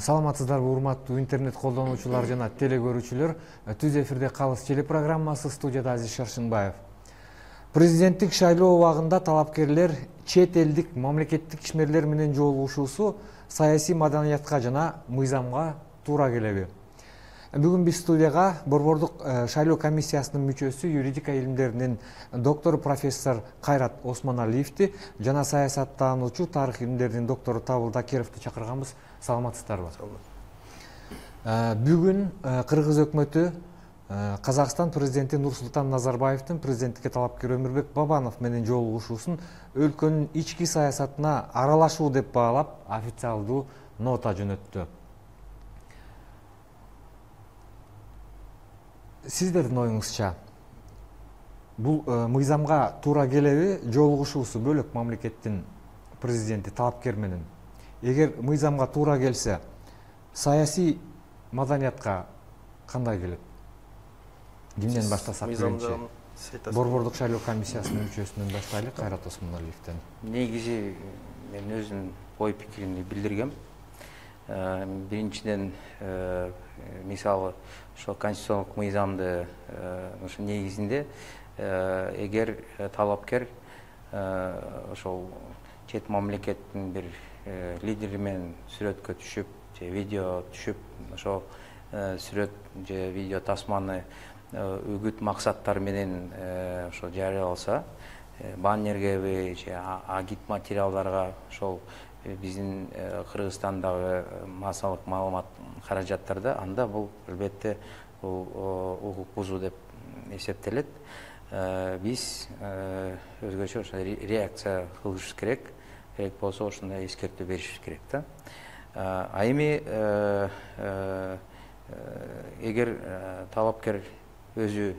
Саламатсыздарбы урматтуу интернет колдонуучулар жана теле көрүүчүлөр. Түз эфирде Калыс телепрограммасы, студияда Азиз Шаршынбаев. Президенттик шайлоо убагында талапкерлер чет элдик мамлекеттик ишмерлер менен жолугушуусу саясий маданиятка жана мыйзамга туура келеби? Бүгүн биз студияга Борбордук шайлоо комиссиясынын мүчөсү, юридика илимдеринин доктору профессор Кайрат Осмоналиевди жана саясаттануучу, тарых илимдеринин доктору Табыл Дакировду чакырганбыз. Саламатсыздарбы? Бүгүн Кыргыз өкмөтү Казакстан президенти Нурсултан Назарбаевдин президенттикке талапкер Өмүрбек Бабанов менен жолугушуусун өлкөнүн ички саясатына аралашуу деп баалап, официалдуу нота жөнөттү. Сиздердин оюңузча, бул мыйзамга туура келеби? Жолугушуусу бөлөк мамлекеттин президенти талапкер менен. Эгер мыйзамга туура келсе, саясий маданиятка кандай келет? Кимден баштасак? Борбордук шайлоо комиссиясынын мүчөсүнөн баштайлы, Кайрат Осмоналиевден. Негизи мен өзүм ой пикиримди билдиргем. Биринчиден, мисалы, ошо конституциялык мыйзамды ошо негизинде эгер талапкер ошол чет мамлекеттин бир лидери менен сүрөткө түшүп, же видео түшүп, ошол сүрөт же видео тасманы үгүт максаттар менен ошо жарыяласа, баннергеби же агит материалдарга ошол биздин Кыргызстандагы массалык маалымат каражаттарда, анда бул албетте укук бузуу деп эсептелет. Биз өзгөчө ошо реакция кылышыбыз керек. Керек болсо ошондой эскертүү беришибиз керек да. А эми эгер талапкер өзү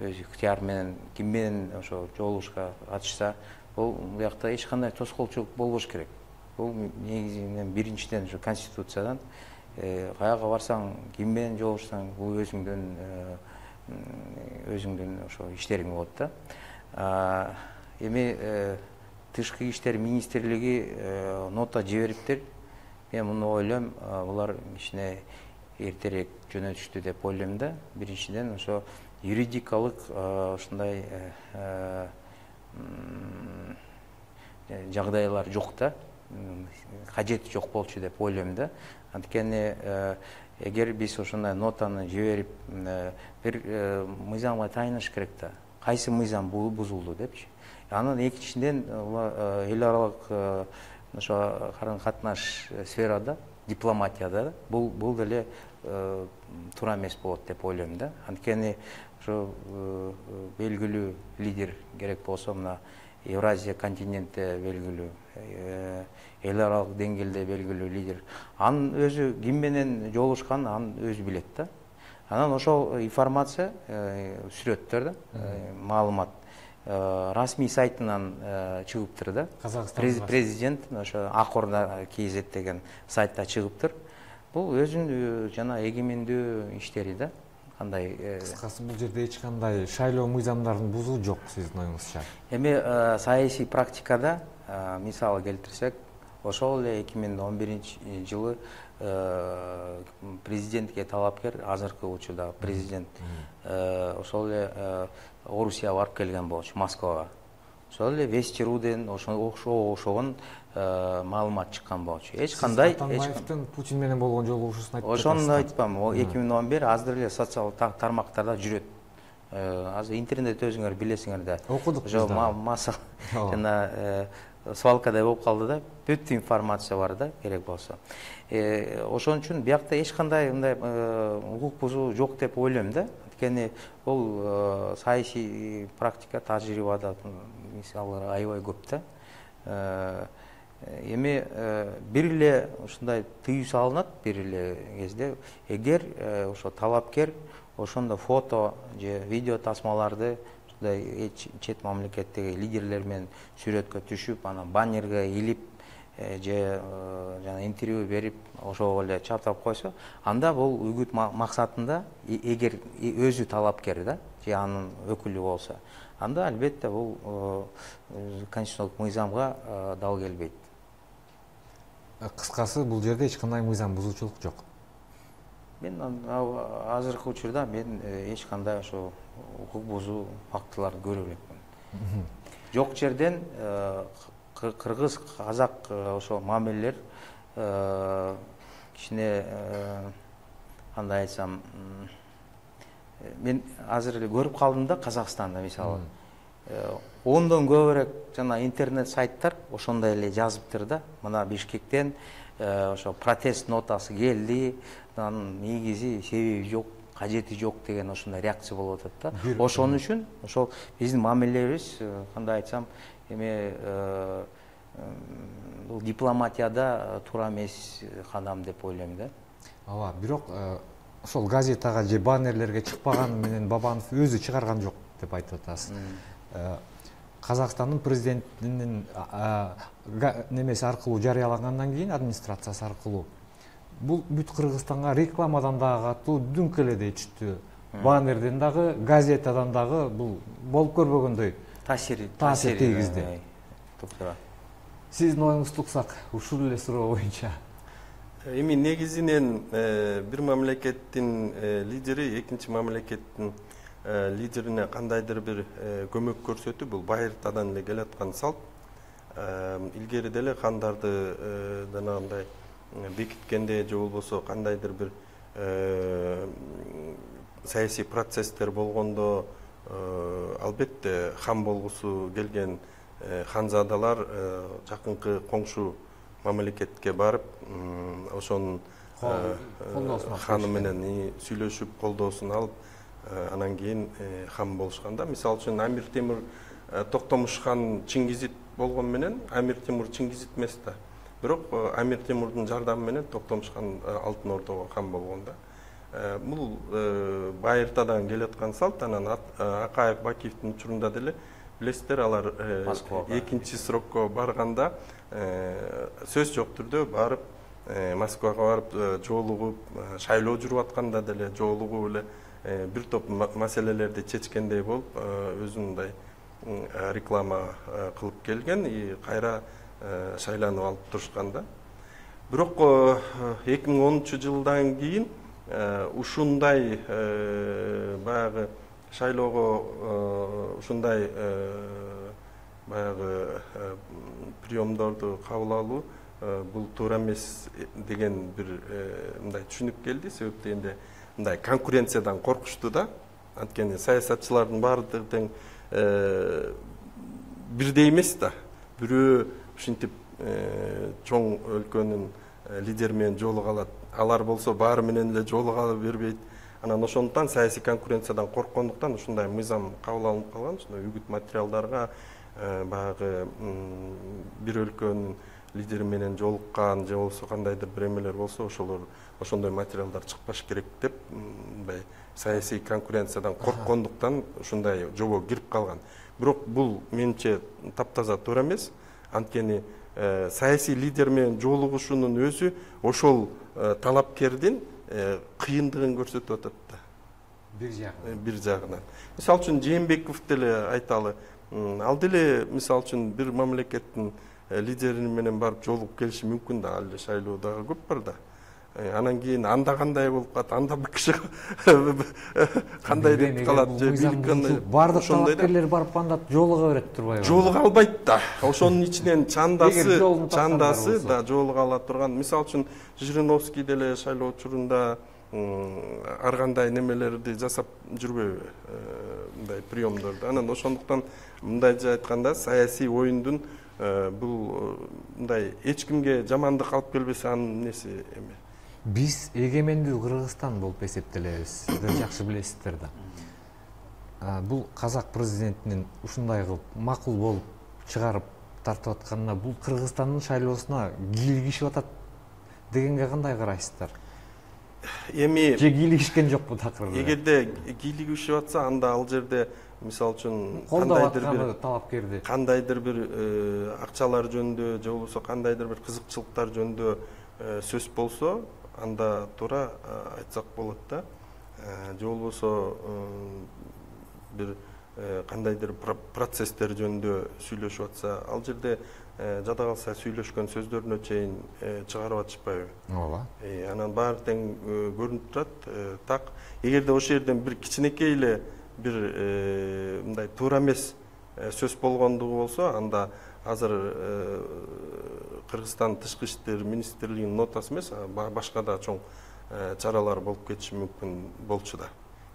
ыктыяр менен ким менен ошо жолугушууга катышса, бул буякта эч кандай тоскоолчулук болбош керек. Бул негизинен биринчиден ошо конституциядан каяга барсаң, ким менен жолугушсаң, бул өзүңдүн ошо иштериң болот да. Эми Тышкы иштер министрлиги нота жибериптир. Мен муну ойлойм, булар ишине эртерээк жөнөтүштү деп ойлойм да. Биринчиден ошо юридикалык ушундай жагдайлар жок да, кажети жок болчу деп ойлойм да. Анткени эгер биз ошондой нотаны жиберип, бир мыйзамга тайыныш керек да. Кайсы мыйзам бузулду депчи. Анын экинчиден эл аралык ошо карым катнаш сферада, дипломатияда бул деле туура эмес болот деп ойлойм да. Анткени ошо белгилүү лидер, керек болсо мына Евразия континентте белгилүү, эл аралык деңгээлде белгилүү лидер. Анын өзү ким менен жолугушканын анын өзү билет да. Анан ошол информация, сүрөттөр да, маалымат расмий сайтынан чыгыптыр да. Президент ошо Акорда KZ деген сайтта чыгыптыр. Бул өзүнүн жана эгемендүү иштери да. Кандай кыскасы, бул жерде эч кандай шайлоо мыйзамдарын бузуу жок сиздин оюңузча. Эми саясий практикада мисалы келтирсек, ошол эле 2011 жылы президентке талапкер, азыркы учурда президент ошол эле Орусияга барып келген болчу, Москвага. Ошол эле Вести.руден ошогон маалымат чыккан болчу. Эч кандай Атамбаевдин Путин менен болгон жолугушуусун айтып жатасыз. Ошону айтпам, 2011 азыр эле социалдык тармактарда жүрөт. Азыр интернет өзүңөр билесиңер да. Окудук биз да. Масса жана свалкадай болуп калды да. Бүт информация бар да, керек болсо. Ошон үчүн биякта эч кандай мындай укук бузуу жок деп ойлойм да. Анткени бул саясий практика, тажрыйбада мисалдар аябай көп да. Эми бир эле ушундай тыюу салынат бир эле кезде, эгер ошо талапкер ошондо фото же видео тасмаларды ушундай чет мамлекеттеги лидерлер менен сүрөткө түшүп, анан баннерге илип же жана интервью берип, ошого эле чаптап койсо, анда бул үгүт максатында, эгер өзү талапкер да, же анын өкүлү болсо, анда албетте бул конституциялык мыйзамга дал келбейт. кыскасы бул жерде эч кандай мыйзам бузуучулук жок. Мен азыркы учурда мен эч кандай ошо укук бузуу фактыларды көрө элекмин. Жок жерден кыргыз казак ошо мамилелер кичине кандай айтсам, мен азыр эле көрүп калдым да Казакстанда мисалы 10дон көбүрөөк жана интернет сайттар ошондой эле жазыптыр да. Мына Бишкектен ошо протест нотасы келди, анын негизи себеби жок, кажети жок деген ошондой реакция болуп атат да. Ошон үчүн ошол биздин мамилелерибиз кандай айтсам, эме бул дипломатияда туура эмес кадам деп ойлойм да. Ооба, бирок ошол газетага же баннерлерге чыкпаганы менен Бабанов өзү чыгарган жок деп айтып атасыз. Казакстандын президентинин немеси аркылуу жарыялагандан кийин, администрациясы аркылуу, бул бүт Кыргызстанга рекламадан дагы катуу дүңк эле дейчү. Баннерден дагы, газетадан дагы бул болуп көрбөгөндөй таасир тийгизди. Сиздин оюңузду уксак, ушул эле суроо боюнча. Эми негизинен бир мамлекеттин лидери экинчи мамлекеттин лидерине кандайдыр бир көмөк көрсөтүү бул байыртадан эле келаткан салт. Илгери деле кандарды жанагындай бекиткенде же болбосо кандайдыр бир саясий процесстер болгондо албетте хан болгусу келген ханзадалар жакынкы коңшу мамлекетке барып ошонун ханы менен сүйлөшүп колдоосун алып анан кийин хан болушканда. Мисалы үчүн Амир Темур Токтомуш хан Чингизит болгон менен Амир Темур Чингизит эмес да. Бирок Амир Темурдун жардамы менен Токтомуш хан Алтын Ордого хан болгон да. Бул байыртадан келаткан салт. Анан Акаев Бакиевдин учурунда деле билесиздер, алар экинчи срокко барганда сөз жок түрдө барып Москвага барып жолугуп, шайлоо жүрүп атканда деле жолугуп эле бир топ маселелерди чечкендей болуп, өзүн мындай реклама кылып келген, кайра шайланып алып турушкан да. Бирок 2010-жылдан кийин ушундай баягы шайлоого ушундай баягы приемдорду кабыл алуу бул туура эмес деген бир мындай түшүнүк келди. Себеп дегенде мындай конкуренциядан коркушту да. Анткени саясатчылардын баардыгы тең бирдей эмес да. Бирөө ушинтип чоң өлкөнүн лидери менен жолуга алат, алар болсо баары менен эле жолуга бербейт. Анан ошондуктан саясий конкуренциядан корккондуктан ушундай мыйзам кабыл алынып калган. Ушундай үгүт материалдарга баягы бир өлкөнүн лидери менен жолуккан же болбосо кандайдыр бир эмелер болсо ошолор ошондой материалдар чыкпаш керек деп мындай саясий конкуренциядан корккондуктан ушундай жобо кирип калган. Бирок бул менимче таптаза туура эмес. Анткени саясий лидер менен жолугушунун өзү ошол талапкердин кыйындыгын көрсөтүп атат да. Бир жагынан. Мисалы үчүн Жээнбеков деле айталы. Ал деле мисалы үчүн бир мамлекеттин лидери менен барып жолугуп келиши мүмкүн да. Ал эле шайлоо дагы көп бар да. Анан кийин анда кандай болуп калат, анда бир киши кандай деп калат же бийлик кандай. Бардык талапкерлер барып анда жолуга берет турбайбы? Жолуга албайт да. Ошонун ичинен чандасы да жолуга ала турган. Мисалы үчүн Жириновский деле шайлоо учурунда ар кандай немелерди жасап жүрбөйбү, мындай приемдорду. Анан ошондуктан мындайча айтканда саясий оюндун бул мындай эч кимге жамандык алып келбесе анын неси эме. Биз эгемендүү Кыргызстан болуп эсептелебиз. Сиздер жакшы билесиздер да. Бул казак президентинин ушундай кылып макул болуп чыгарып тартып атканына, бул Кыргызстандын шайлоосуна кийлигишип атат дегенге кандай карайсыздар? Эми же кийлигишкен жокпу такырда? Эгерде кийлигишип атса, анда ал жерде мисалы үчүн кандайдыр бир акчалар жөнүндө же болбосо кандайдыр бир кызыкчылыктар жөнүндө сөз болсо, анда туура айтсак болот да. Же болбосо бир кандайдыр процесстер жөнүндө сүйлөшүп атса, ал жерде жада калса сүйлөшкөн сөздөрүнө чейин чыгарып атышпайбы? ооба. Анан баары тең көрүнүп турат. Так, эгерде ошол жерден бир кичинекей эле бир мындай туура эмес сөз болгондугу болсо, анда азыр Кыргызстан тышкы иштер министрлигинин нотасы эмес, башка да чоң чаралар болуп кетиши мүмкүн болчу да.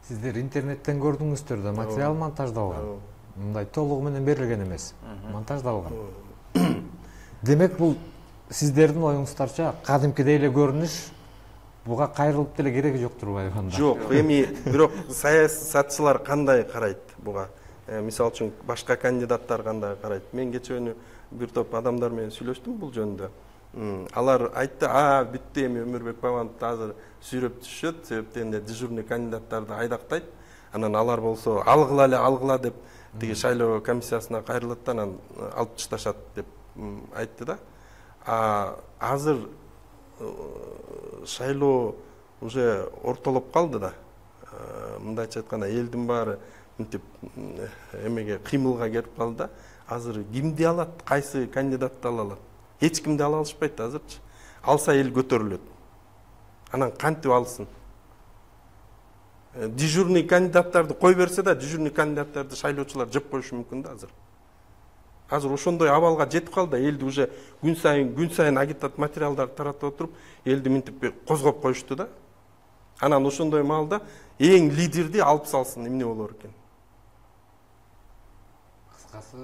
Сиздер интернеттен көрдүңүздөр да, материал монтаждалган. Мындай толугу менен берилген эмес, монтаждалган. Демек бул сиздердин оюңуздарча кадимкидей эле көрүнүш, буга кайрылып деле кереги жок турбайбы анда? Жок, эми бирок саясатчылар кандай карайт буга? Мисалы үчүн башка кандидаттар кандай карайт? Мен кечээ бир топ адамдар менен сүйлөштүм бул жөнүндө. Алар айтты, бүттү, эми Өмүрбек Бабановду азыр сүйрөп түшөт, себептен эле дежурный кандидаттарды айдактайт. Анан алар болсо алгыла деп тиги шайлоо комиссиясына кайрылат да, анан алып ташташат деп айтты да. Азыр шайлоо уже ортолоп калды да. Мындайча айтканда, элдин баары мынтип эмеге кыймылга келип калды да. Азыр кимди алат, кайсы кандидатты ала алат? Эч кимди ала алышпайт азырчы. Алса эл көтөрүлөт. Анан кантип алсын? Дежурный кандидаттарды кой берсе да, дежурный кандидаттарды шайлоочулар жеп коюшу мүмкүн да азыр. Азыр ошондой абалга жетип калды, элди уже күн сайын агитат материалдарды таратып отуруп, элди мынтип козгоп коюшту да. Анан ошондой маалда эң лидерди алып салсын, эмне болор экен? Кыскасы,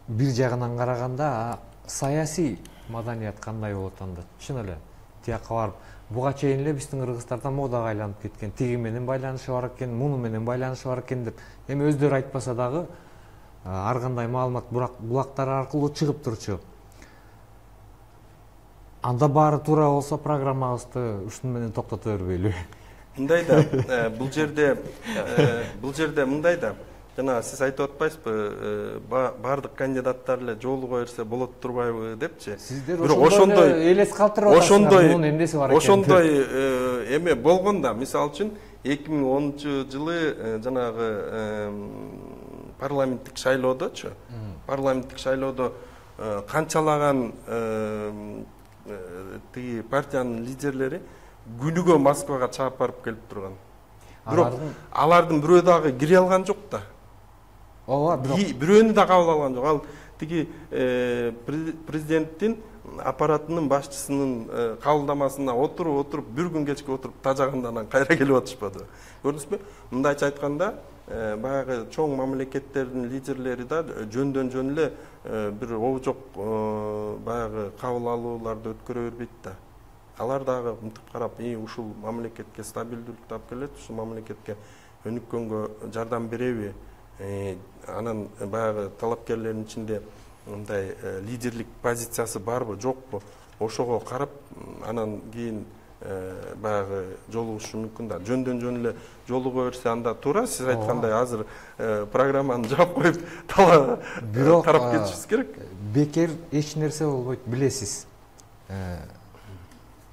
бир жагынан караганда саясий маданият кандай болот анда? Чын эле тияка барып, буга чейин эле биздин кыргыздарда модага айланып кеткен, тиги менен байланышы бар экен, муну менен байланышы бар экен деп, эми өздөрү айтпаса дагы ар кандай маалымат булактар аркылуу чыгып турчу. Анда баары туура болсо программабызды ушун менен токтото бербейлү. Мындай да, бул жерде мындай да, жана сиз айтып атпайсызбы, баардык кандидаттар эле жолуга берсе болот турбайбы депчи. Сиздер ошондой элес калтырып атасыздар, мунун эмнеси бар экен. Ошондой эме болгон да, мисалы үчүн 2010-жылы жанагы парламенттик шайлоодочу, канчалаган тиги партиянын лидерлери күнүгө Москвага чаап барып келип турган. Бирок алардын бирөө дагы кире алган жок да. Ооба, бирөөнү да кабыл алган жок. Ал тиги президенттин аппаратынын башчысынын кабылдамасына отуруп бир күн кечке отуруп тажаганда анан кайра келип атышпады. Көрдүңүзбү? Мындайча айтканда, баягы чоң мамлекеттердин лидерлери да жөндөн жөн эле бир обжок баягы кабыл алууларды өткөрө бербейт да. Алар дагы мынтип карап, ушул мамлекетке стабилдүүлүк таап келет, ушул мамлекетке өнүккөнгө жардам береби? Анан баягы талапкерлердин ичинде мындай лидерлик позициясы барбы, жокпу? Ошого карап, анан кийин баягы жолугушу мүмкүн да. Жөндөн жөн эле жолуга берсе анда туура, сиз айткандай азыр программаны жаап коюп тарап кетишибиз керек. Бекер эч нерсе болбойт, билесиз.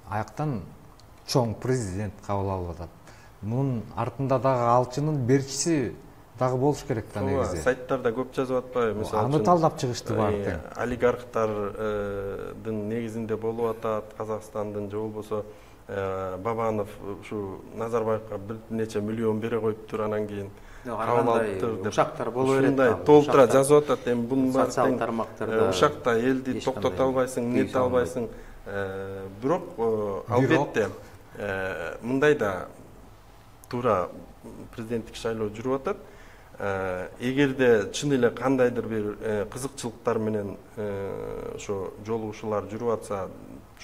Аяктан чоң президент кабыл алып атат. Мунун артында дагы алчынын берчиси дагы болуш керек да негизи. Сайттарда көп жазып атпайбы? Мисалы аны талдап чыгышты баары. Олигархтардын негизинде болуп атат, Казакстандын же болбосо Бабанов ушу Назарбаевга бир нече миллион бере коюптур, анан кийин кабыл алыптыр деп. Ушактар боло берет. Ушундай толтура жазып атат. Эми бунун баары социалдык тармактарда ушакта элди токтото албайсың, нете албайсың. Бирок албетте мындай да туура президенттик шайлоо жүрүп атат. Эгерде чын эле кандайдыр бир кызыкчылыктар менен ошо жолугушуулар жүрүп атса,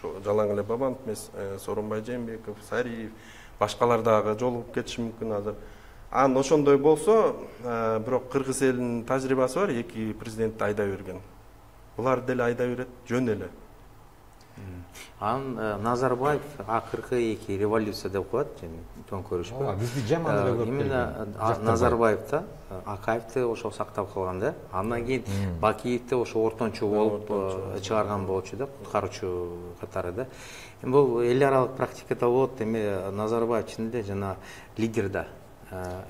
жалаң эле Бабанов эмес, Сооронбай Жээнбеков, Сариев, башкалар дагы жолугуп кетиши мүмкүн азыр. Анан ошондой болсо, бирок кыргыз элинин тажрыйбасы бар, эки президентти айдай берген. Булар деле айдай берет, жөн эле. Анан Назарбаев акыркы эки революция деп коет, төңкөрүшпү. Бизди жаман эле көрүп келген. Именно Назарбаев да Акаевди ошо сактап калган да. Андан кийин Бакиевди ошо ортончу болуп чыгарган болчу да, куткаруучу катары да. Эми бул эл аралык практикада болот. Эми Назарбаев чын эле жана лидер да.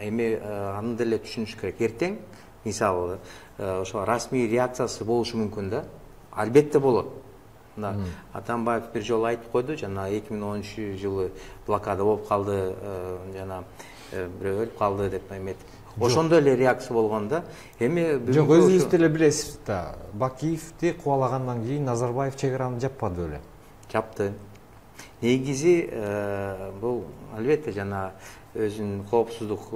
эми аны деле түшүнүш керек. Эртең мисалы ошо расмий реакциясы болушу мүмкүн да. Албетте болот. Атамбаев бир жолу айтып койду, жана 2013-жылы блокада болуп калды, жана бирөө өлүп калды деп эметип. Ошондой эле реакция болгон да. Эми жок, өзүңүз деле билесиз да, Бакиевди кубалагандан кийин Назарбаев чек араны жаппады беле? Жапты. Негизи бул албетте жана өзүнүн коопсуздук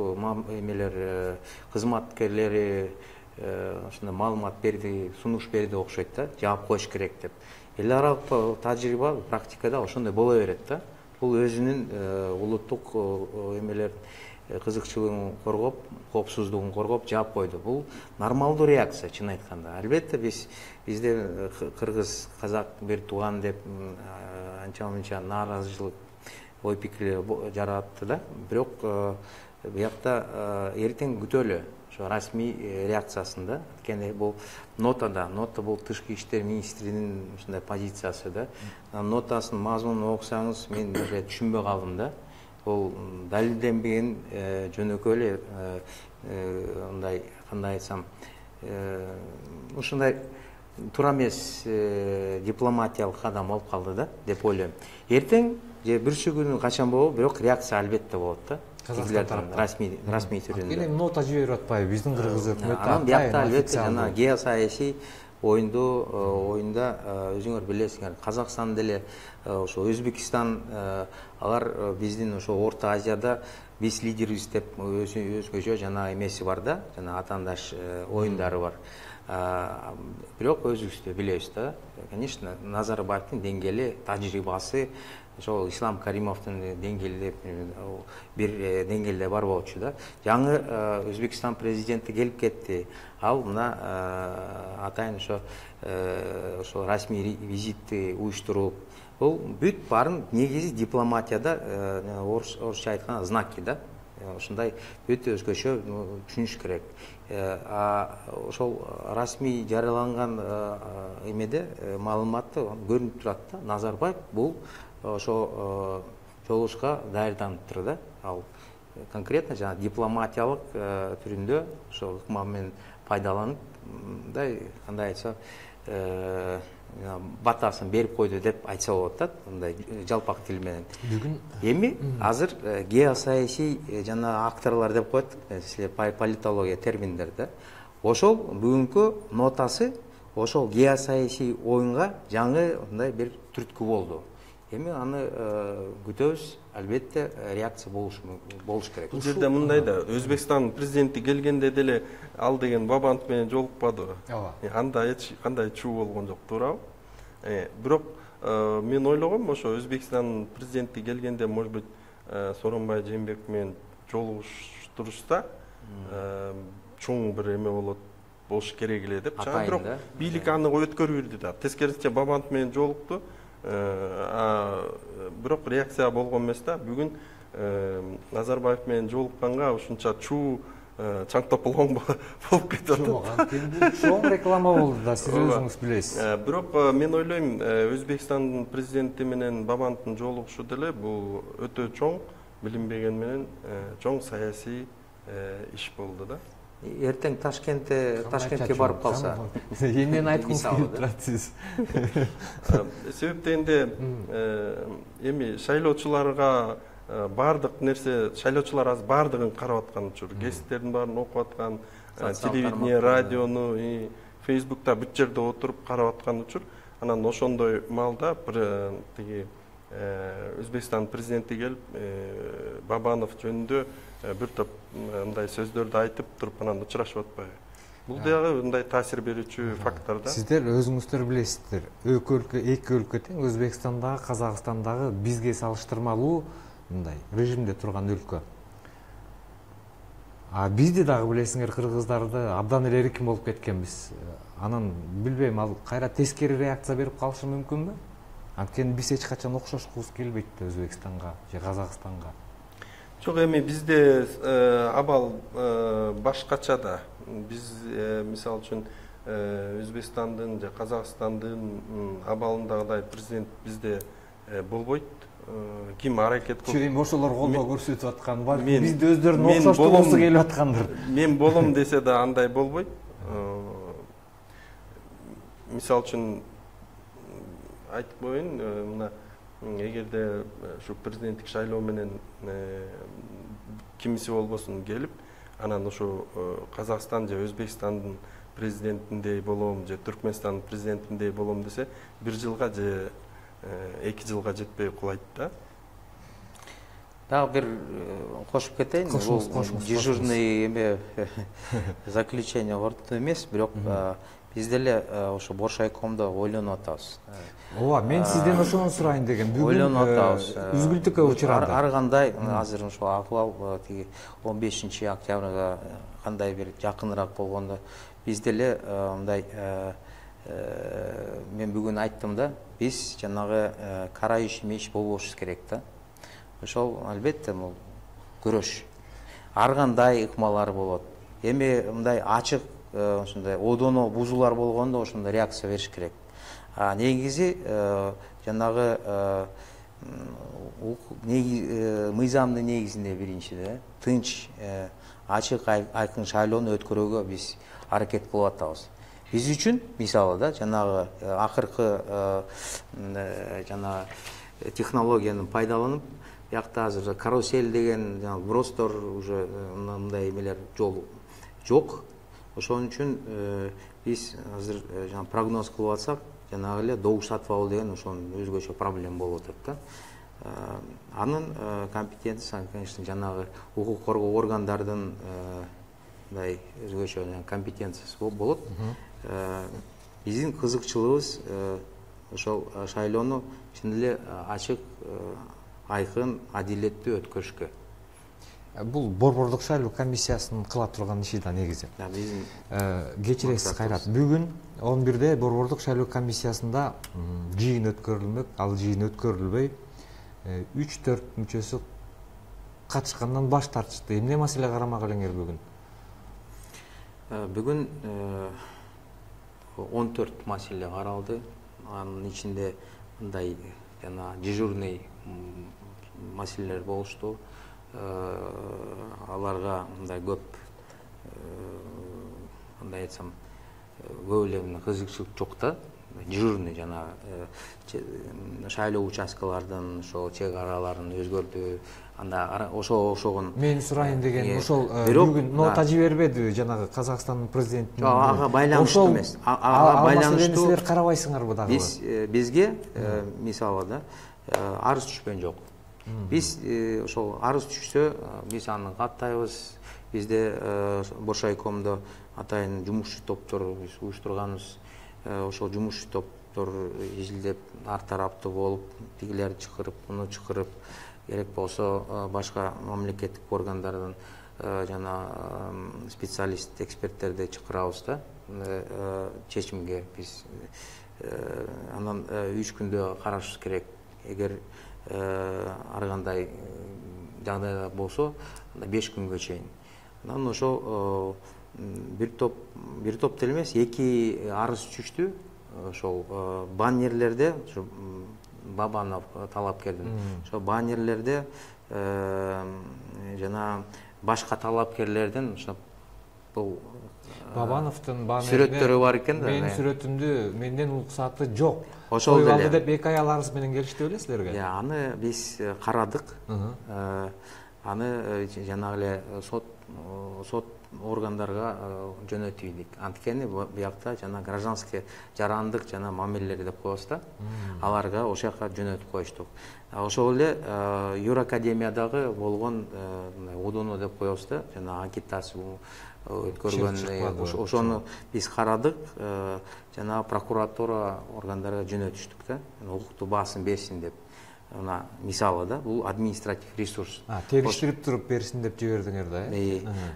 эмелер кызматкерлери ошондой маалымат берди, сунуш берди окшойт да, жаап коюш керек деп. Эл аралык тажрыйба, практикада ошондой боло берет да. Бул өзүнүн улуттук эмелерин кызыкчылыгын коргоп, коопсуздугун коргоп жаап койду. Бул нормалдуу реакция, чын айтканда. Албетте бизде кыргыз, казак бир тууган деп анча-мынча нааразычылык ой пикирлер жаратты да. Бирок буякта эртең күтөлү ошо расмий реакциясын да. Анткени бул нота бул тышкы иштер министринин ушундай позициясы да. Нотасынын мазмунун окусаңыз, мен даже түшүнбөй калдым да. Бул далилденбеген жөнөкөй эле мындай кандай айтсам, ушундай туура эмес дипломатиялык кадам болуп калды да деп ойлойм. Эртең же бүрсү күнү качан болобу, бирок реакция албетте болот да. Расмий түрүндө. Анткени нота жиберип атпайбы биздин кыргыз өкмөтү? Анан биякта албетте жана геосаясий оюнда өзүңөр билесиңер, Казакстан деле ошо Өзбекстан, алар биздин ошо Орто Азияда биз лидербиз деп өзгөчө жана эмеси бар да, жана атаандаш оюндары бар. Бирок өзүбүздө билебиз да, конечно, Назарбаевдин деңгээли, тажрыйбасы ошол Ислам Каримовдун деңгээлде бир деңгээлде бар болчу да. Жаңы Өзбекстан президенти келип кетти. Ал мына атайын ошо расмий визитти уюштуруп, бул бүт баарын негизи дипломатияда орусча айтканда знаки да. Ошондой бүт өзгөчө түшүнүш керек. Ошол расмий жарыяланган эмеде маалыматты көрүнүп турат да. Назарбаев бул ошо жолугушка даярданыптыр да. Ал конкретно жана дипломатиялык түрүндө ошо ыкма менен пайдаланып, мындай кандай айтса, батасын берип койду деп айтса болот да, мындай жалпак тил менен. Эми азыр геосаясий жана акторлор деп коет, политология терминдер да. Ошол бүгүнкү нотасы ошол геосаясий оюнга жаңы мындай бир түрткү болду. Эми аны күтөбүз, албетте реакция болуш керек. Бул жерде мындай да, Өзбекстан президенти келгенде деле ал деген Бабанов менен жолукпадыбы? Анда эч кандай чуу болгон жок, туурабы? Бирок мен ойлогом, ошо Өзбекстан президенти келгенде, может быть, Сооронбай Жээнбеков менен жолугуштурушса, чоң бир эме болуш керек эле деп. Бирок бийлик аны өткөрүп да. Тескерисинче Бабанов менен жолукту. Бирок реакция болгон эмес да. Бүгүн Назарбаев менен жолукканга ушунча чуу чаң тополоң болуп кетип атат. Анткени бул чоң реклама болду да, сиз өзүңүз билесиз. Бирок мен ойлойм, Өзбекстандын президенти менен Бабановдун жолугушу деле бул өтө чоң, билинбеген менен чоң саясий иш болду да. Эртең Ташкентке барып калса, эмнени айткыңыз келип турат сиз? Себеп дегенде эми шайлоочуларга баардык нерсе, шайлоочулар азыр баардыгын карап аткан учур, гезиттердин баарын окуп аткан, телевидение, радиону, Facebook'та бүт жерде отуруп карап аткан учур. Анан ошондой маалда тиги Өзбекстан президенти келип Бабанов жөнүндө бир топ мындай сөздөрдү айтып туруп анан учурашып атпайбы? Бул дагы мындай таасир берүүчү фактор да. Сиздер өзүңүздөр билесиздер, эки өлкө тең, Өзбекстандагы, Казакстандагы бизге салыштырмалуу мындай режимде турган өлкө. Бизди дагы билесиңер, кыргыздарды абдан эле эркин болуп кеткенбиз. Анан билбейм, ал кайра тескери реакция берип калышы мүмкүнбү? Анткени биз эч качан окшошкубуз келбейт да Өзбекстанга же Казакстанга. Жок, эми бизде абал башкача да. Биз мисалы үчүн Өзбекстандын же Казакстандын абалындагыдай президент бизде болбойт. ким аракет кылып эми ошолор колдоо көрсөтүп атканбы, мен- бизде өздөрүнүн мен окшоштугубузу болом- келип аткандыр. мен болом десе да андай болбойт. Мисалы үчүн айтып коеюн, мына эгерде ушу президенттик шайлоо менен кимиси болбосун келип, анан ушу Казакстан же Өзбекстандын президентиндей болом же Түркмөнстандын президентиндей болом десе, 1 жылга же 2 жылга жетпей кулайт да. Дагы бир кошуп кетейин. Кошуңуз, Бул кошуңуз, дежурный эме заключение ордун эмес, бирок биз деле ошо Боршайкомдо ойлонуп атабыз. Ооба, мен сизден ошону сурайын дегем. Бүгүн Ойлонуп атабыз. үзгүлтүккө учурады. Ар кандай азыр ошо акыбал тиги 15 октябрга кандай бир жакыныраак болгондо биз деле мындай мен бүгүн айттым да, биз жанагы кара иш меш болбош керек да. Ошол албетте бул күрөш. Ар кандай ыкмалар болот. Эми мындай ачык ошондой одоно бузуулар болгондо ошондой реакция бериш керек. Негизи жанагы мыйзамдын негизинде биринчиде тынч, ачык, айкын шайлоону өткөрүүгө биз аракет кылып атабыз. Биз үчүн мисалы да жанагы акыркы жана технологияны пайдаланып, биякта азыр карусель деген бростор уже мындай эмелер жок. Ошон үчүн биз азыр прогноз кылып атсак, жанагы эле добуш сатып алуу деген ошонун өзгөчө проблема болуп атат да. Анын компетенциясы, конечно, жанагы укук коргоо органдардын мындай өзгөчө компетенциясы болот. Биздин кызыкчылыгыбыз ошол шайлоону чын эле ачык, айкын, адилеттүү өткөрүшкө. Бул Борбордук шайлоо комиссиясынын кыла турган иши да негизи. Кечиресиз Кайрат. Бүгүн 11-де Борбордук шайлоо комиссиясында жыйын өткөрүлмөк. Ал жыйын өткөрүлбөй 3-4 мүчөсү катышкандан баш тартышты. Эмне маселе карамак элеңер бүгүн? Бүгүн 14 маселе каралды. Анын ичинде мындай жана дежурный маселелер болушту. Аларга мындай көп кандай айтсам, көп эле кызыкчылык жок да. Дежурный жана шайлоо участкалардын ошо чек араларын өзгөрдү. Анда ошогон Мен сурайын деген ошол бүгүн нота жибербедиби жанагы Казакстандын президентине? Ага байланыштуу эмес. Ага байланыштуу. Силер карабайсыңарбы дагы? Бизге мисалы да арыз түшкөн жок. Биз ошол арыз түшсө, биз аны каттайбыз. Бизде Боршайкомдо атайын жумушчу топтор биз уюштурганбыз. Ошол жумушчу топтор изилдеп, ар тараптуу болуп, тигилерди чакырып, муну чакырып, керек болсо башка мамлекеттик органдардан жана специалист, эксперттерди чакырабыз да. Чечимге биз анан 3 күндө карашыбыз керек. Эгер ар кандай жагдайда болсо, 5 күнгө чейин. Анан ошо бир топ деле эмес, 2 арыз түштү. Ошол баннерлерде, Бабанов талапкердин, ошо баннерлерде жана башка талапкерлердин ошо бул Бабановдун баннеринде сүрөттөрү бар экен да. Менин сүрөтүмдү менден уруксаты жок. Ошол деле деп 2 ай аларыбыз менен келишти беле силерге? Аны биз карадык. Аны жанагы эле сот органдарга жөнөтүйдүк. Анткени биякта жана гражданский жарандык жана мамилелер деп коебуз да. Аларга ошол жака жөнөтүп коюштук. Ошол эле Юракадемиядагы болгон одоно деп коебуз да, жана агитация өткөргөн ошону биз карадык, жана прокуратура органдарга жөнөтүштүк да. Укуктуу баасын берсин деп. Мына мисалы да, бул административ ресурс. Териштирип туруп берсин деп жибердиңер да,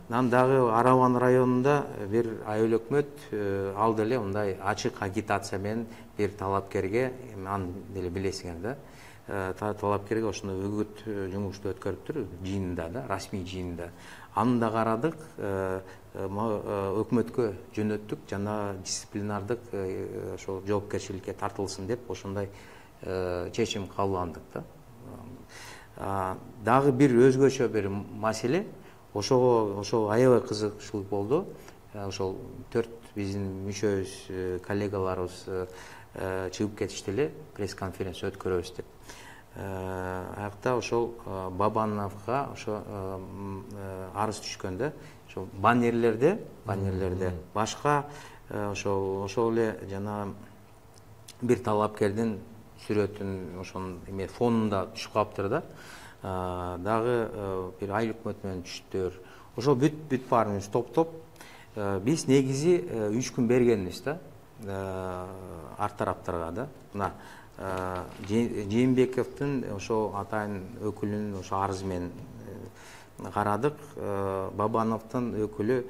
Анан дагы Араван районунда бир айыл өкмөт ал деле мындай ачык агитация менен бир талапкерге, аны деле билесиңер да, талапкерге ошондой үгүт жумушту өткөрүптүр жыйында да, расмий жыйында. Аны да карадык, өкмөткө жөнөттүк жана дисциплинардык ошол жоопкерчиликке тартылсын деп ошондой чечим кабыл алдык да. Дагы бир өзгөчө бир маселе, ошого аябай кызыкчылык болду. Ошол 4 биздин мүчөбүз, коллегаларыбыз чыгып кетишти эле, пресс-конференция өткөрөбүз деп. Аякта ошол Бабановго ошо арыз түшкөн да. Ошо баннерлерде башка ошол эле жана бир талапкердин сүрөтүн ошонун эме фонунда түшүп калыптыр да. Дагы бир айыл өкмөтү менен түштүр. Ошол бүт баарыбыз топтоп биз негизи 3 күн бергенбиз да ар тараптарга да. Мына Жээнбековдун ошо атайын өкүлүнүн ошо арызы менен карадык. Бабановдун өкүлү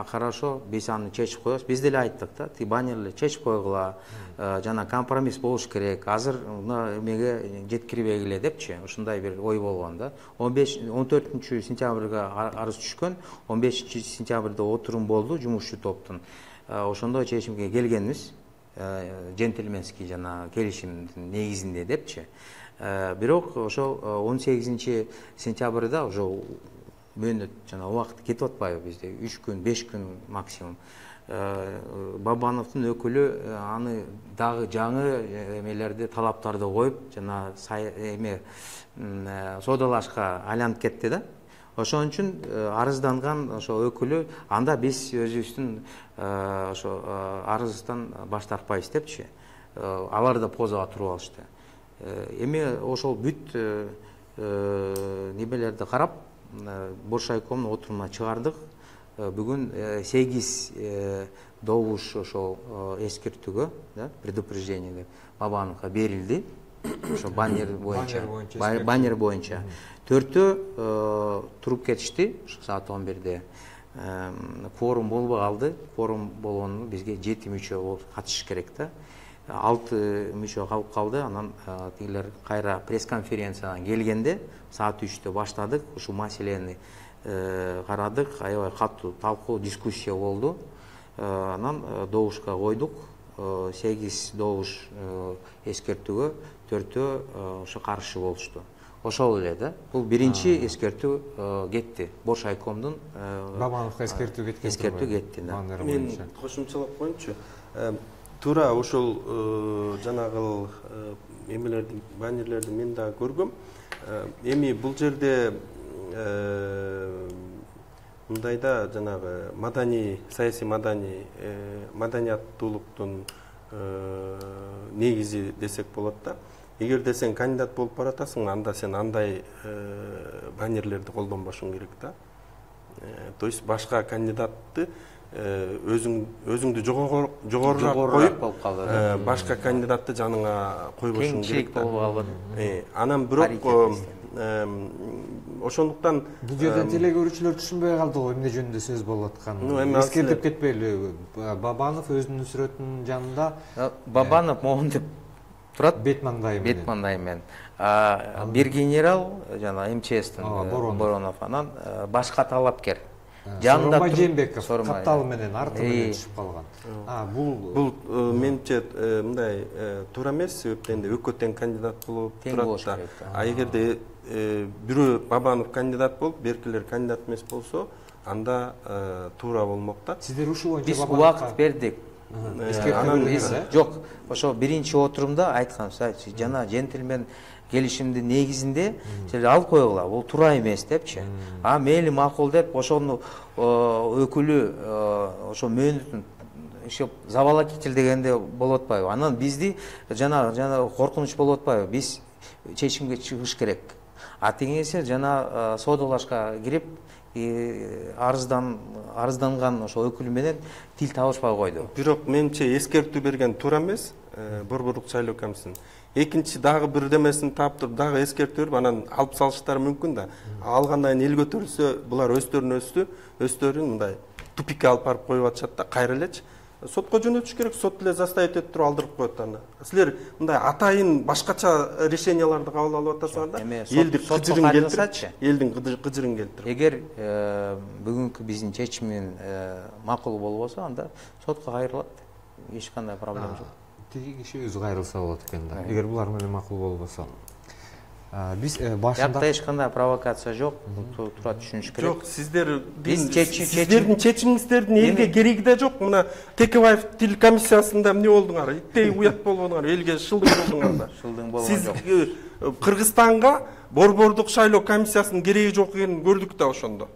хорошо, биз аны чечип коебуз. Биз деле айттык да, ти баннерлерди чечип койгула, жана компромисс болуш керек. Азыр эмеге жеткирбегиле депчи, ушундай бир ой болгон да. 14 сентябрга арыз түшкөн, 15 сентябрда отурум болду жумушчу топтун. Ошондо чечимге келгенбиз, джентльменский жана келишимдин негизинде депчи. Бирок ошо 18 сентябрда уже мөөнөт жана убакыт кетип атпайбы бизде? 3 күн, 5 күн максимум. Бабановдун өкүлү аны дагы жаңы эмелерди, талаптарды коюп, жана эме соодалашка айланып кетти да. Ошон үчүн арызданган ошо өкүлү анда биз өзүбүздүн ошо арыздан баш тартпайбыз депчи. Алар да позага туруп алышты. Эми ошол бүт немелерди карап, Боршайкомдун отурумуна чыгардык. Бүгүн 8 добуш ошол эскертүүгө, предупреждение Бабановго берилди. Ошо баннер боюнча. 4-төө туруп кетишти саат 11-де. Форум болбой калды. Форум болгону бизге 7 мүчө болуп катышыш керек да. 6 мүчө калып калды. Анан тигилер кайра пресс-конференциядан келгенде саат 3-тө баштадык. Ушул маселени карадык. Аябай катуу талкуу, дискуссия болду. Анан добушка койдук. 8 добуш эскертүүгө 4-төө ошо каршы болушту. Ошол эле да. Бул биринчи эскертүү кетти. Боршайкомдун Бабановго эскертүү кетти. Мен кошумчалап коеюнчу. Туура ошол жанагы эмелерди, баннерлерди мен да көргөм. Эми бул жерде мындайда жанагы маданий, саясий маданияттуулуктун негизи десек болот да. Эгерде сен кандидат болуп баратасың, анда сен андай баннерлерди колдонбошуң керек да. То есть башка кандидатты өзүңдү жогорураак коюп, башка кандидатты жаныңа койбошуң керек да. Анан бирок ошондуктан бул жерден теле көрүүчүлөр түшүнбөй калды го эмне жөнүндө сөз болуп атканын. Эскертип кетпейли. Бабанов өзүнүн сүрөтүнүн жанында Бабанов могун деп турат, бет маңдайы менен. Бир генерал жана МЧСтин Боронов, анан башка талапкер. Жанында Жээнбеков капталы менен арты менен түшүп калган. Бул менимче мындай туура эмес, себептен экөө тең кандидат болуп турат да. Эгерде бирөө Бабанов кандидат болуп, беркилер кандидат эмес болсо, анда туура болмок да. Сиздер ушул боюнча биз убакыт бердик. Жок, ошо биринчи отурумда айтканбыз, жана джентльмен келишимдин негизинде алып койгула, бул туура эмес депчи. Мейли макул деп ошону өкүлү ошо мөөнөтүн ишеп забала кетил дегенде болот атпайбы? Анан бизди жана коркунуч болот атпайбы? Биз чечимге чыгыш керек. Теңесе жана соодалашка кирип арызданган ошо өкүлү менен тил табышпай койду. Бирок менимче эскертүү берген туура эмес, Борборлук шайлоо комиссиясынын. Экинчи дагы бир демесин таап туруп дагы эскертүү берип, анан алып салыштары мүмкүн да. Алгандан кийин эл көтөрүлсө, булар өздөрүн мындай тупикке алып барып коюп атышат да, кайра элечи. Сотко жөнөтүш керек, сот эле заставить этип туруп алдырып коет аны. Силер мындай атайын башкача решенияларды кабыл алып атасыңар да. Элди кыжырын келтирип, элдин кыжырын келтирип. Эгер бүгүнкү биздин чечимин макул болбосо, анда сотко кайрылат. Эч кандай проблема жок. Тиги киши өзү кайрылса болот экен да. Эгер булар менен макул болбосо. Биз башында Бuyакта эч кандай провокация жок. Туура түшүнүш керек. Жок, сиздердин чечим- чечимиңиздердин элге кереги да жок. Мына Текебаев тил комиссиясында эмне болдуңар? Иттей уят болбодуңар, элге шылдың болдуңар да. Шылдың болгон Сиз жок. Кыргызстанга борбордук шайлоо комиссиясынын кереги жок экенин көрдүк да ошондо.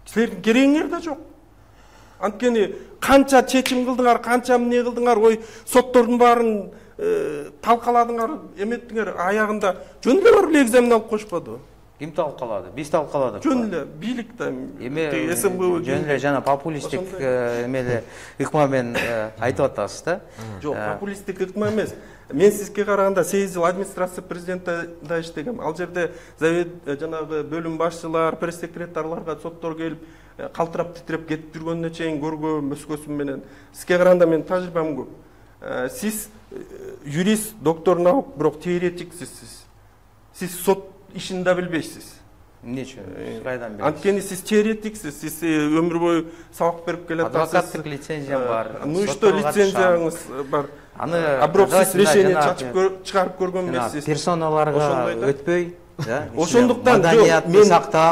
Силердин керегиңер да жок. Анткени канча чечим кылдыңар, канча эмне кылдыңар, ой соттордун баарын талкаладыңар, эметтиңер, аягында жөн эле барып экзамен алып коюшпадыбы? Ким талкалады? Биз талкаладык. Жөн эле бийлик да СМБ жөн эле жана популисттик эмеле ыкма менен айтып атасыз да. Жок, популисттик ыкма эмес. Мен сизге караганда 8 жыл администрация президентте иштегем. Ал жерде завет жанагы бөлүм башчылар, пресс-секретарларга соттор келип калтырап титиреп кетип жүргөнүнө чейин көргөм өскөсүм менен. Сизге караганда мен тажрыйбам көп. Сиз юрист, доктор наук, бирок теоретиксиз сиз. Сиз сот ишин да билбейсиз. Эмне үчүн? Кайдан билесиз? Анткени сиз теоретиксиз, сиз өмүр бою сабак берип келатасыз. Адвокаттык лицензиям бар. Ну что, лицензияңыз бар. А бирок сиз решение чыгарып көргөн эмессиз. Персоналарга өтпөй, ошондуктан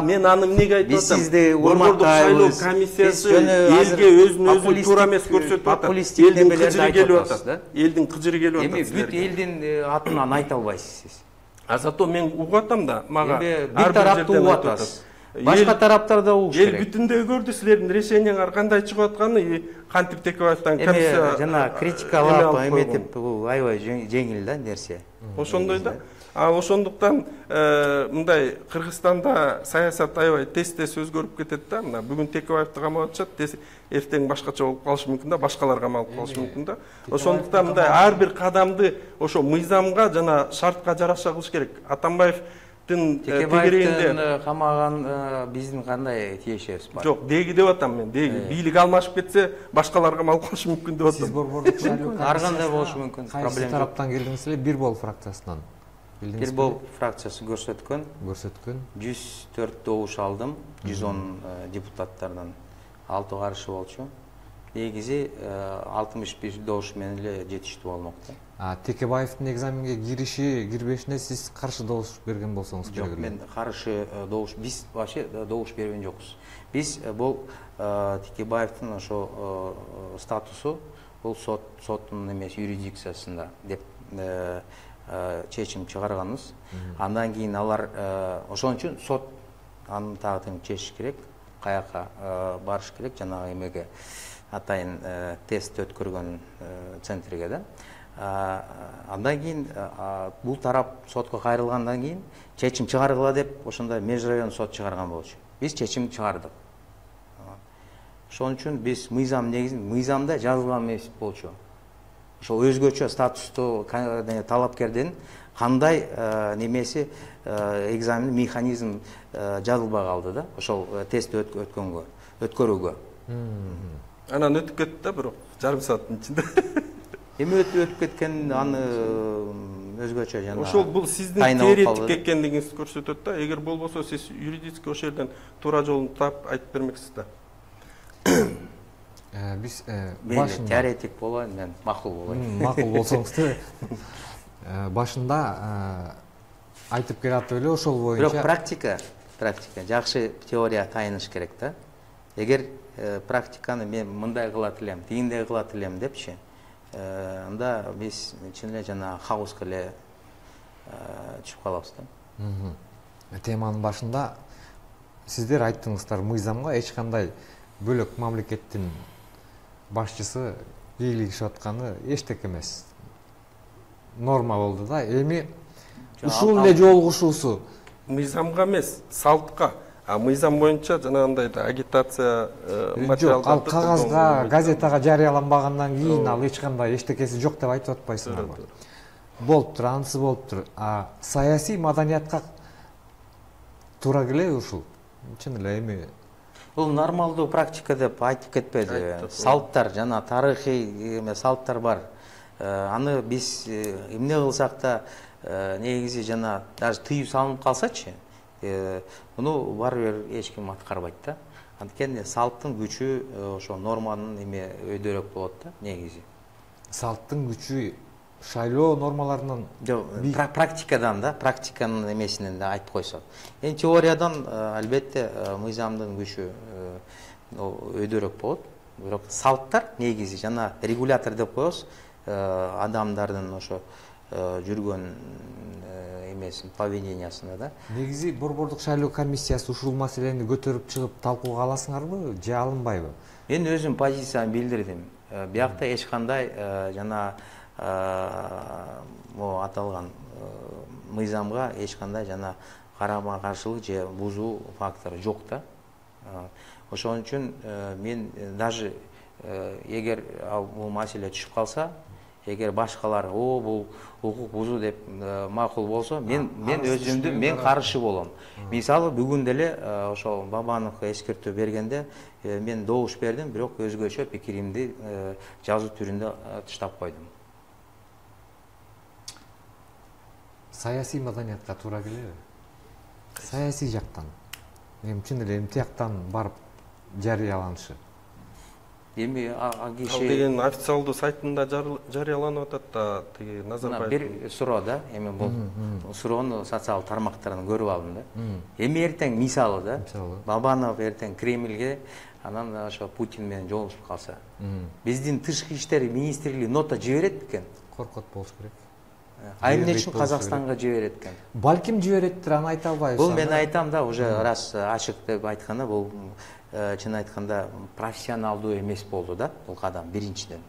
мен аны эмнеге айтып атам? Сизди борбордук шайлоо комиссиясы элге өзүн өзү туура эмес көрсөтүп атат. Элдин кыжыры келип атат. Элдин кыжыры келип атат. Эми бүт элдин атынан айта албайсыз сиз. А зато мен угуп атам да, мага бир тарапты угуп атасыз. Башка тараптар да угуш керек. Эл бүтүндөй көрдү силердин решениеңер кандай чыгып атканын, кантип Текебаевден комиссия жана критикалап эметип аябай жеңил да нерсе. Ошондой да. Ошондуктан мындай Кыргызстанда саясат аябай тез-тез өзгөрүп кетет да. Мына бүгүн Текебаевди камап атышат, эртең башкача болуп калышы мүмкүн да, башкалар камалып калышы мүмкүн да. Ошондуктан мындай ар бир кадамды ошо мыйзамга жана шартка жараша кылыш керек. Атамбаевдин тегерегинде камаган биздин кандай тиешебиз бар? Жок, деги деп атам мен, деги. Бийлик алмашып кетсе, башкалар камалып калышы мүмкүн деп атам. Сиз борбордук шайлоо ар кандай болушу мүмкүн. Кайсы тараптан келдиңиз эле? Бир бол фракциясынан. Бир бол фракциясы көрсөткөн. 104 добуш алдым, 110 депутаттардан 6 каршы болчу. Негизи 61 добуш менен эле жетиштүү болмокто. Текебаевдин экзаменге кириши, кирбешине сиз каршы добуш берген болсоңуз керек эле. Жок, мен каршы добуш, биз вообще добуш берген жокпуз. Биз бул Текебаевдин ошо статусу бул соттун эмес юрисдикциясында деп чечим чыгарганбыз. Андан кийин алар ошон үчүн сот анын тагдырын чечиш керек, каяка барыш керек, жанагы эмеге атайын тест өткөргөн центрге да. Андан кийин бул тарап сотко кайрылгандан кийин чечим чыгаргыла деп ошондой межрайон сот чыгарган болчу. Биз чечим чыгардык. Ошон үчүн биз мыйзам негизинде мыйзамда жазылган эмес болчу. Ошол өзгөчө статустуу талапкердин кандай немеси экзамен механизм жазылбай калды да, ошол тест өткөрүүгө. Анан өтүп кетти да, бирок жарым сааттын ичинде. Эми өтүп кеткен аны өзгөчө жана. Ошол бул сиздин теоретик экендигиңизди көрсөтөт да. Эгер болбосо сиз юридический ошол жерден туура жолун таап айтып бермексиз да. Биз башында теоретик болоюн, мен макул болоюн. Макул болсоңуз башында айтып келатып эле ошол боюнча. Бирок практика жакшы теория тайыныш керек да. Эгер практиканы мен мындай кылат элем, тигиндей кылат элем депчи, анда биз чын эле жана хаоска эле чыгып калабыз да. Теманын башында сиздер айттыңыздар, мыйзамга эч кандай бөлөк мамлекеттин башчысы бийлигишип атканы эчтеке эмес. Норма болду да. Эми ушул эле жолугушуусу мыйзамга эмес, салтка. Мыйзам боюнча жанагындай агитация материалдарды ал кагазга, газетага жарыяланбагандан кийин ал эч кандай эчтекеси жок деп айтып атпайсыңарбы? Болуптур, анысы болуптур. Саясий маданиятка туура келеби ушул? Чын эле эми бул нормалдуу практика деп айтып кетпеди. Салттар жана тарыхый салттар бар. Аны биз эмне кылсак да негизи жана даже тыюу салынып калсачы, муну баары бир эч ким аткарбайт да. Анткени салттын күчү ошо норманын эме өйдөрөөк болот да негизи. Салттын күчү шайлоо нормаларынан жок, практикадан да, практиканын эмесинен да айтып койсок. Эми теориядан албетте мыйзамдын күчү өйдөрөөк болот. Бирок салттар негизи жана регулятор деп коебуз, адамдардын ошо жүргөн эмесин, поведениясына да. Негизи Борбордук шайлоо комиссиясы ушул маселени көтөрүп чыгып талкууга аласыңарбы же алынбайбы? Мен өзүм позициямды билдирдим. Биякта эч кандай жана аталган мыйзамга эч кандай жана карама каршылык же бузуу фактору жок да. Ошон үчүн мен даже эгер бул маселе түшүп калса, эгер башкалар бул укук бузуу деп макул болсо, мен өзүмдү мен каршы болом. Мисалы бүгүн деле ошол Бабановго эскертүү бергенде мен добуш бердим, бирок өзгөчө пикиримди жазуу түрүндө таштап койдум. Саясий маданиятка туура келеби? Саясий жактан. Эми чын эле тияктан барып жарыяланышы. Эми Ал деген официалдуу сайтында жарыяланып атат да, тиги Назарбаев. Бир суроо да, эми бул суроону социалдык тармактардан көрүп алдым да. Эми эртең мисалы да, Бабанов эртең Кремльге анан ошо Путин менен жолугушуп калса, биздин тышкы иштер министрлиги нота жиберет бекен? Коркот болуш керек. А эмне үчүн Казакстанга жиберет экен? Балким жибереттир, аны айта албайбыз. Бул мен айтам да, уже раз ачык деп айтканда, бул чын айтканда профессионалдуу эмес болду да, бул кадам биринчиден.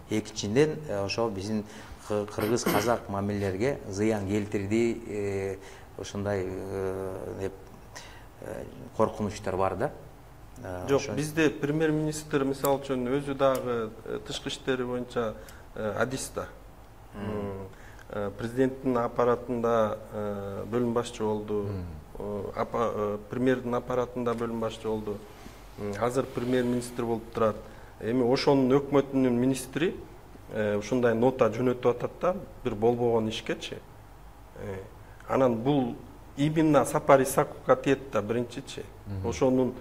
Экинчиден ошол биздин кыргыз казак мамилелерге зыян келтирди, ошондой деп коркунучтар бар да. Жок, бизде премьер-министр мисалы үчүн өзү дагы тышкы иштери боюнча адис да. Президенттин аппаратында бөлүм башчы болду, премьердин аппаратында бөлүм башчы болду. Азыр премьер-министр болуп турат. Эми ошонун өкмөтүнүн министри ушундай нота жөнөтүп атат да, бир болбогон ишкечи. Анан бул именно Сапар Исаковго тиет да биринчичи. Ошонун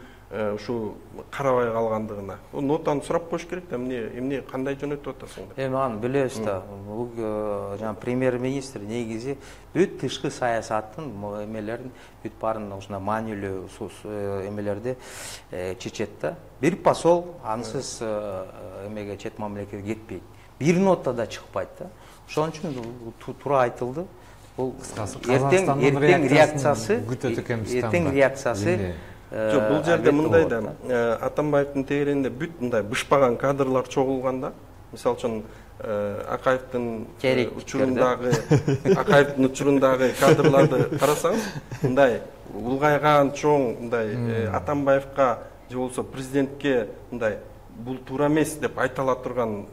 ушу карабай калгандыгына. Нотаны сурап коюш керек да, эмне кандай жөнөтүп атасың деп. Эми аны билебиз да. Бул жана премьер-министр негизи бүт тышкы саясаттын эмелерин, бүт баарын ушундай маанилүү эмелерди чечет да. Бир посол ансыз эмеге чет мамлекетке кетпейт. Бир нота да чыкпайт да. Ошон үчүн туура айтылды. Бул эртең реакциясы Жок, бул жерде мындай да, Атамбаевдин тегерегинде бүт мындай бышпаган кадрлар чогулганда, мисалы үчүн Акаевдин учурундагы кадрларды карасаңыз, мындай улгайган чоң мындай Атамбаевга же болбосо президентке мындай бул туура эмес деп айта ала турган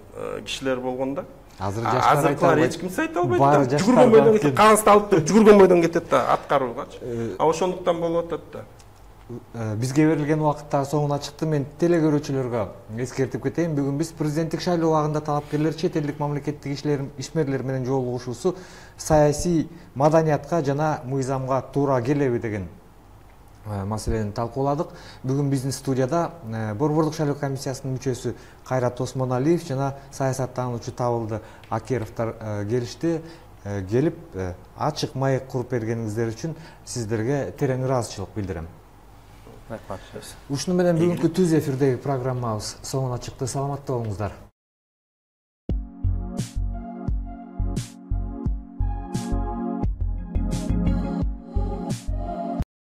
кишилер болгондо, азыркылар эч кимсе айта албайт да. Жүгүргөн бойдон кетип, кагазды алып туруп жүгүргөн бойдон кетет да, аткаруугачы. Ошондуктан болуп атат да. Бизге берилген убакыттагы соңуна чыкты. Мен телекөрүүчүлөргө эскертип кетейин. Бүгүн биз президенттик шайлоо убагында талапкерлер чет элдик мамлекеттик ишмерлер менен жолугушуусу саясий маданиятка жана мыйзамга туура келеби деген маселени талкууладык. Бүгүн биздин студияда Борбордук шайлоо комиссиясынын мүчөсү Кайрат Осмоналиев жана саясаттануучу Табылды Акеровдор келишти. Келип ачык маек куруп бергениңиздер үчүн сиздерге терең ыраазычылык билдирем. Ушуну менен бүгүнкү түз эфирдеги программабыз соңуна чыкты. Саламатта болуңуздар.